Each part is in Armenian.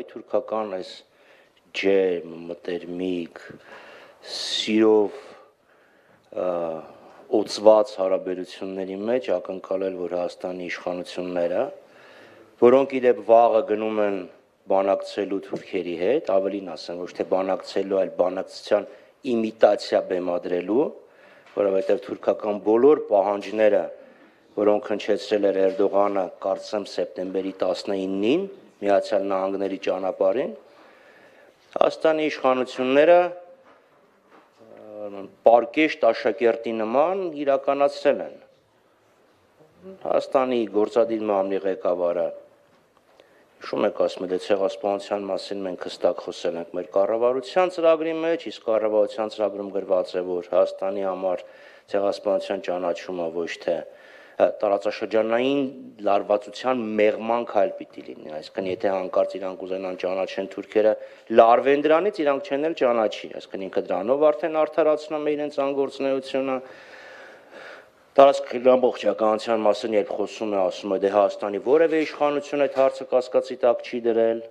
այ թուրքական այս ջերմ, մտերմիկ, սիրով օծված հարաբերությունների մեջ ակնկալել, որ Հայաստանի իշխանությունները, որոնք իդեպ վաղը գնում են բանակցելու թուրքերի հետ, ավելին ասեմ, ոչ թե բանակցելու, այլ բանակցության իմիտացիա բեմադրելու, որովհետև թուրքական բոլոր պահանջները, որոնք հնչեցրել էր Էրդողանը, կարծեմ սեպտեմբերի 19-ին Միացյալ Նահանգների ճանապարհին, Հայաստանի իշխանությունները պարկեշտ աշակերտի նման իրականացրել են։ Հայաստանի գործադիր մամլի ղեկավարը Շում եք ասում է ցեղասպանության մասին մենք հստակ խոսել ենք մեր կառավարության ծրագրի մեջ, իսկ կառավարության ծրագրում գրված է, որ Հայաստանի համար ցեղասպանության ճանաչումը ոչ թե տարածաշրջանային լարվածության մեղման քայլ պիտի լինի, այսինքն եթե հանկարծ իրանք ուզենան ճանաչեն թուրքերը, լարվեն դրանից, իրանք չեն էլ ճանաչի, այսինքն ինքը դրանով արդեն արդարացնում է իրենց անգործունեությունը։ Տարածքների ամբողջականության մասին երբ խոսում է, ասում է, դե Հայաստանի որևէ իշխանություն այդ հարցը կասկածի տակ չի դրել,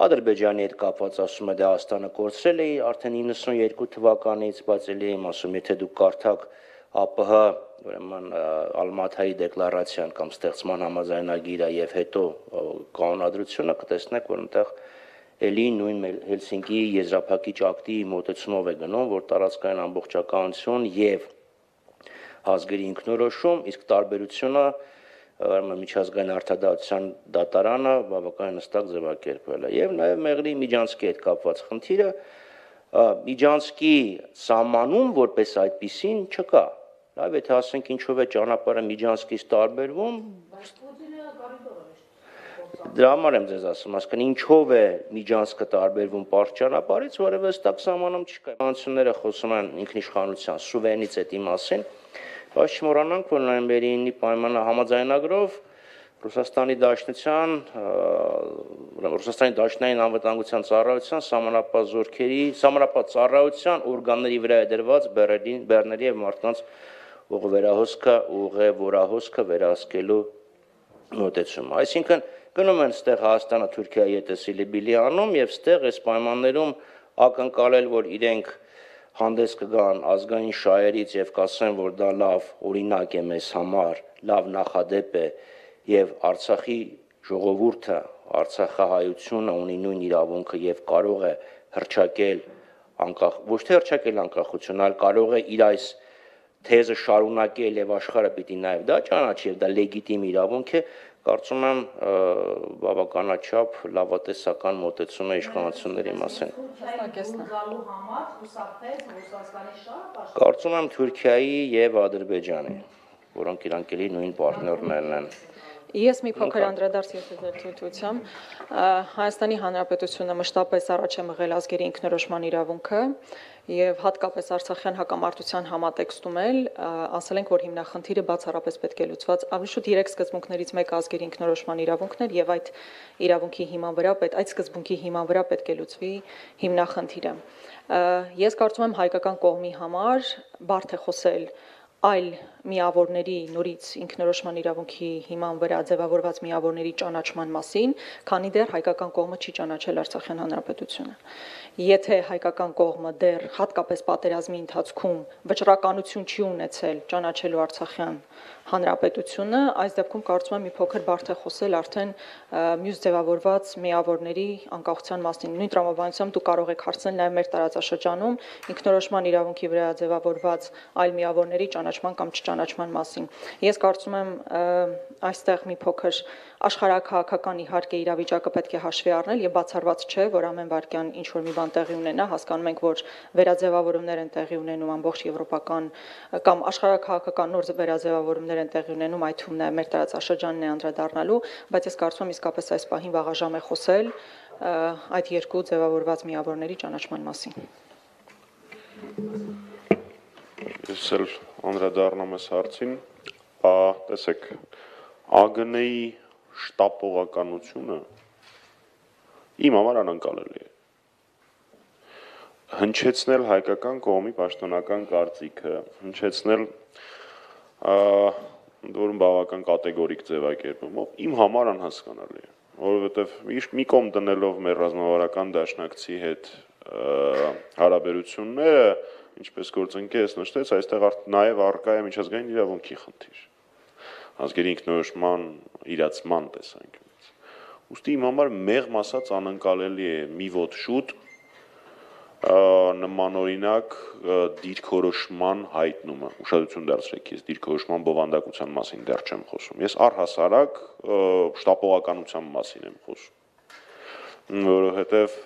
Ադրբեջանի հետ կապված ասում է, դե Հայաստանը կորցրել է արդեն 92 թվականից, բայց էլի եմ ասում, եթե դուք կարդաք ԱՊՀ, ուրեմն Ալմաթայի դեկլարացիան կամ ստեղծման համաձայնագիրը եւ հետո կանոնադրությունը կտեսնեք, որ այնտեղ էլի նույն Հելսինկիի եզրափակիչ ակտի մոտեցումով է գնում, որ տարածքային ամբողջականություն եւ ազգերի ինքնորոշում, իսկ տարբերությունը միջազգային արդարադատության դատարանը բավականին հստակ ձևակերպել է։ Եվ նաև Մեղրի Միջանցքի հետ կապված խնդիրը Միջանցքի սահմանում որպես այդպիսին չկա։ Լավ, եթե ասենք ինչով է ճանապարհը Միջանցքից տարբերվում, դրա համար եմ ձեզ ասում, ասկան ինչով է Միջանցքը տարբերվում պարզ ճանապարհից, որևէ հստակ սահմանում չկա։ Իշխանությունները խոսում են ինքնիշխանության սուվերենիտետի մասին, բայց չմոռանանք, որ նոյեմբերի 9-ի պայմանը համաձայնագրով Ռուսաստանի Դաշնային անվտանգության ծառայության սահմանապահ զորքերի, սահմանապահ ծառայության օրգանների վրա է դրված բեռների եւ մարդկանց ուղևորահոսքը վերահսկելու մոտեցումը։ Այսինքն գնում են ստեղ Հայաստանը Թուրքիայի հետ սիլիբիլի անում եւ ստեղ այս պայմաններում ակնկալել, որ իրենք հանդես կգան ազգային շահերից եւ կասեն, որ դա լավ օրինակ է մեզ համար, լավ նախադեպ է եւ Արցախի ժողովուրդը, Արցախահայությունը ունի նույն իրավունքը եւ կարող է հռչակել անկախ, ոչ թե հռչակել անկախություն, այլ կարող է իր այս թեզը շարունակել եւ աշխարհը պիտի նաեւ դա ճանաչի եւ դա լեգիտիմ իրավունք է, կարծում եմ բավականաչափ լավատեսական մոտեցում է իշխանությունների մասին։ Կարծում եմ Թուրքիայի եւ Ադրբեջանի, որոնք իրանք էլի նույն պարտներներն են։ Ես մի փոքր անդրադարձ ձեր թույլտվությամբ, Հայաստանի Հանրապետությունը մշտապես առաջ է մղել ազգերի ինքնորոշման իրավունքը եւ հատկապես Արցախյան հակամարտության համատեքստում էլ ասել ենք, որ հիմնախնդիրը բացառապես պետք է լուծված ավելի շուտ 3 սկզբունքներից մեկը ազգերի ինքնորոշման իրավունքն էր եւ այդ իրավունքի հիման վրա այդ սկզբունքի հիման վրա պետք է լուծվի հիմնախնդիրը։ Ես կարծում եմ հայկական կողմի համար բարդ է խոսել այլ միավորների նորից ինքնորոշման իրավունքի հիման վրա ձևավորված միավորների ճանաչման մասին, քանի դեռ հայկական կողմը չի ճանաչել Արցախյան հանրապետությունը։ Եթե հայկական կողմը դեռ հատկապես պատերազմի ընթացքում վճռականություն չի ունեցել ճանաչելու Արցախյան հանրապետությունը, այս դեպքում կարծում եմ մի փոքր բարդ է խոսել արդեն մյուս ձևավորված միավորների անկախության մասին։ Նույն տրամաբանությամբ դուք կարող եք հարցնել նաև մեր տարածաշրջանում ինքնորոշման իրավունքի վրա ձևավորված այլ միավորների ճանաչման կամ չճանաչման մասին։ Ես կարծում եմ այստեղ մի փոքր աշխարհաքաղաքական իհարկե իրավիճակը պետք է հաշվի առնել եւ բացառված չէ, որ ամեն վարքյան ինչ որ մի բան տեղի ունենա, հասկանում ենք, որ վերաձևավորումներ են տեղի ունենում ամբողջ եվրոպական կամ աշխարհաքաղաքական նոր վերաձևավորումներ են տեղի ունենում, այդ թվում նաեւ մեր տարածաշրջանն է անդրադառնալու, բայց ես կարծում եմ իսկապես այս պահին վաղաժամ է խոսել այդ երկու ձևավորված միավորների ճանաչման մասին։ Ես էլ անդրադառնամ այս հարցին, տեսեք, ԱԳՆ-ի շտապողականությունը իմ համար անկարելի է։ Հնչեցնել հայկական կողմի պաշտոնական կարծիքը, հնչեցնել որում բավական կատեգորիկ ձևակերպումով իմ համար անհասկանալի է։ որովհետև մի կողմ դնելով մեր ռազմավարական դաշնակցի հետ հարաբերությունները, ինչպես գործընկերս նշեց, այստեղ նաև առկա է միջազգային իրավունքի խնդիր, ազգերի ինքնորոշման իրացման տեսանկյունից։ Ուստի իմ համար մեղմ ասած անկարելի է մի ոտ շուտ նմանօրինակ դիրքորոշման հայտնումը, ուշադրություն դարձրեք, ես դիրքորոշման բովանդակության մասին դեռ չեմ խոսում, ես առհասարակ շտապողականության մասին եմ խոսում, որովհետև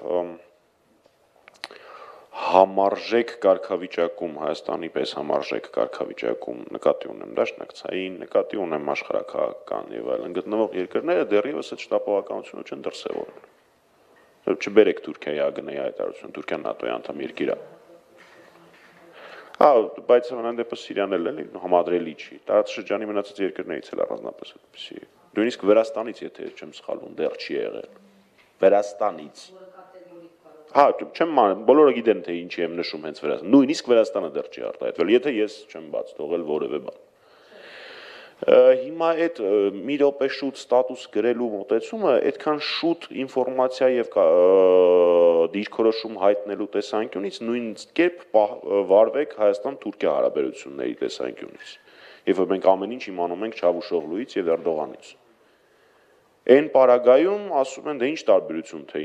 համարժեք կարգավիճակում, Հայաստանի պես համարժեք կարգավիճակում նկատի ունեմ դաշնակցային, նկատի ունեմ աշխարհաքաղաքական եւ այլն գտնվող երկրները դեռևս այդ շտապողականությունը չեն դրսևորել։ Չբերեք Թուրքիայի ԱԳՆ-ի հայտարարությունը, Թուրքիան ՆԱՏՕ-ի անդամ երկիր է։ Բայց ամենայն դեպս Սիրիան էլ էլի համադրելի չի։ Տարածաշրջանի մնացած երկրներից էլ առանձնապես այդպեսի։ Նույնիսկ Վրաստանից, եթե չեմ սխալվում, դեռ չի եղել։ Վրաստանից։ Չեմ բոլորը գիտեն թե ինչի եմ նշում հենց Վրաստան։ Նույնիսկ Վրաստանը դեռ չի արտահայտվել, եթե ես չեմ բաց թողել որևէ բան։ Հիմա այդ մի րոպե շուտ ստատուս գրելու մոտեցումը այդքան շուտ ինֆորմացիա եւ դիրքորոշում հայտնելու տեսանկյունից նույն կերպ վարվեք Հայաստան-Թուրքիա հարաբերությունների տեսանկյունից։ Երբ որ մենք ամեն ինչ իմանում ենք Չավուշօղլուից եւ Էրդողանից։ Այն պարագայում ասում են դե ինչ տարբերություն թե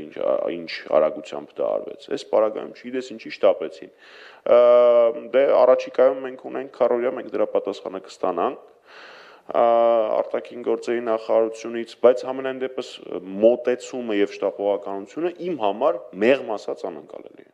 ինչ արագությամբ դա արվեց։ Այս պարագայում չգիտես ինչի շտապեցին։ Դե առաջիկայում մենք ունենք քարորիա, մենք դրա պատասխանը կստանանք արտաքին գործերի նախարարությունից, բայց համենայն դեպս մոտեցումը եւ շտապողականությունը իմ համար մեղմ ասած անկարելի է։